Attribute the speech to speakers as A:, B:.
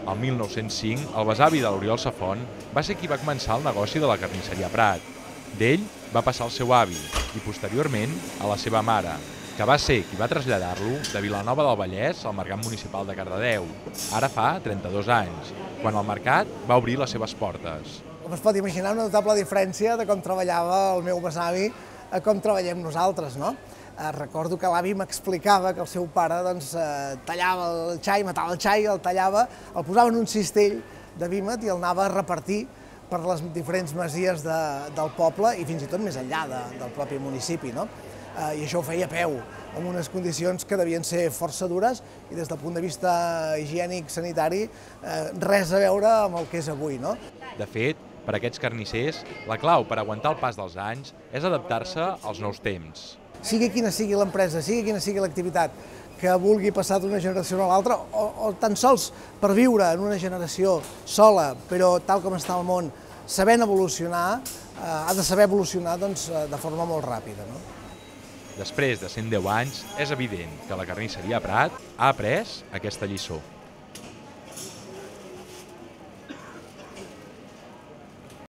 A: El 1905, el besavi de l'Oriol Safont va ser qui va començar el negoci de la carnisseria Prat. D'ell va passar al seu avi i, posteriorment, a la seva mare, que va ser qui va traslladar-lo de Vilanova del Vallès al Mercat Municipal de Cardedeu, ara fa 32 anys, quan el mercat va obrir les seves portes.
B: Com es pot imaginar, una notable diferència de com treballava el meu besavi a com treballem nosaltres, no? Recordo que l'avi m'explicava que el seu pare tallava el xai, matava el xai, el tallava, el posava en un cistell de vímet i el anava a repartir per les diferents masies del poble i fins i tot més enllà del propi municipi, no? I això ho feia a peu, amb unes condicions que devien ser força dures i des del punt de vista higiènic, sanitari, res a veure amb el que és avui, no?
A: De fet, per a aquests carnissers, la clau per aguantar el pas dels anys és adaptar-se als nous temps.
B: Sigui quina sigui l'empresa, sigui quina sigui l'activitat que vulgui passar d'una generació a l'altra, o tan sols per viure en una generació sola, però tal com està el món, sabent evolucionar, ha de saber evolucionar de forma molt ràpida, no?
A: Després de 110 anys, és evident que la carnisseria Prat ha après aquesta lliçó.